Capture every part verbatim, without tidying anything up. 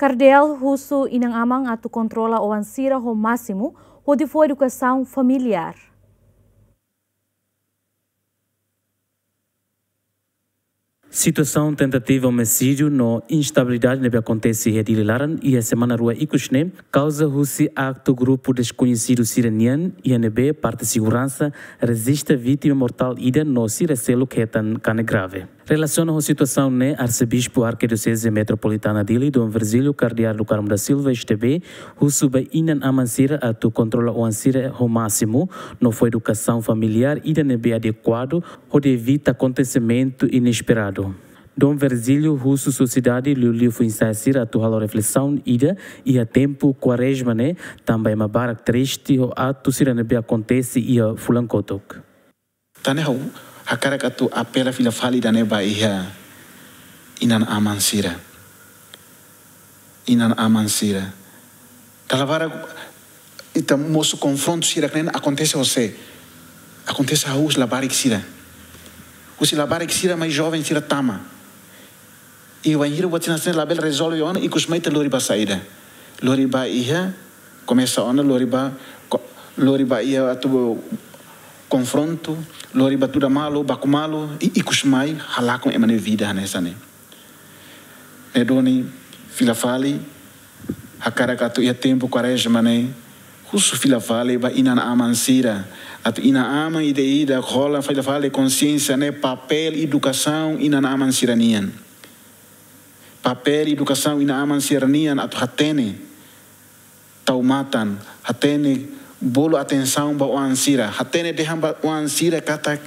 Kardeál husu inan-aman atu kontrola oan sira ho másimu, hodi fó edukasaun familiár. Situasaun tentativa omisídiu no instabilidade ne'ebé akontese iha Dili laran iha semana rua ikus ne'e, kauza husi aktu grupu deskoñesidu sira nian, iha ne'ebé parte seguransa rejista vítima mortál ida no sira seluk hetan kanek grave. Relasiona ho situasaun ne'e, Arsebispu Arkidioseze Metropolitana Dili, Dom Virgílio Kardeál do Carmo da Silva, S T B, husu ba inan-aman sira atu kontrola oan sira ho másimu, no fó edukasaun familiár ida ne'ebé adekuadu, hodi evita akontesimentu inesperadu. Dom Virgílio husu sosiedade liuliu foin-sa'e sira atu halo reflesaun ida iha tempu Kuarezma ne'e, tanba ema barak triste ho aktu sira ne'ebé akontese iha fulan kotuk. Tan ne'e ha'u hakarak atu apela fila fali ida-ne'e ba iha inan-aman sira. Inan-aman sira. Dala barak ita mosu konfrontu sira ne'e akontese ho sé? Akontese ho husi labarik sira. Husi labarik sira mai joven sira tama. I wainhira buat sira-ne'e labele rezolve ona, ikus mai ita lori ba saida? Lori ba iha, komesa ona lori ba, ko-, lori ba iha atu konfrontu, lori ba tuda malu, baku malu, i ikus mai halakon ema nia vida hanesan ne'e. Ne'e duni, fila fali, hakarak atu iha tempu Kuarezma ne'e, husu fila fali ba inan-aman sira, atu inan-aman ida-idak hola fila fali konxiénsia ne'e papél edukasaun inan-aman sira-nian. Papél edukasaun inan-aman sira-nian atu hatene tau matan, hatene bolu atensaun ba oan sira, hatene dehan ba oan sira katak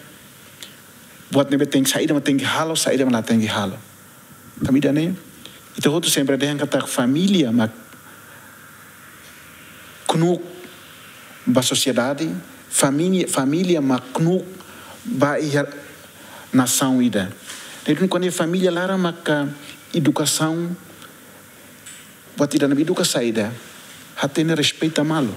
buat ne'ebé tenke, saida mak tenke halo, saida mak la tenke halo. Tanba ida-ne'e, ita hotu sempre dehan katak família mak knuk ba sosiedade, família, família mak knuk ba iha nasaun ida. Ne'e duni kuandu família laran maka edukasaun, buat ida ne'ebé eduka saida, hatene respeita malu.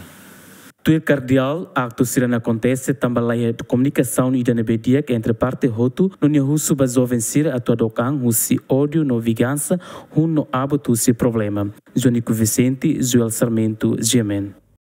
Tuir Kardeál, aktu sira-ne'e akontese tanba laiha komunikasaun ida ne'ebé di'ak entre parte hotu, no nia husu ba joven sira atu hadook an husi ódiu no vingansa, hun no abut husi problema. Jonico Vicente, Joel Sarmento, G M N.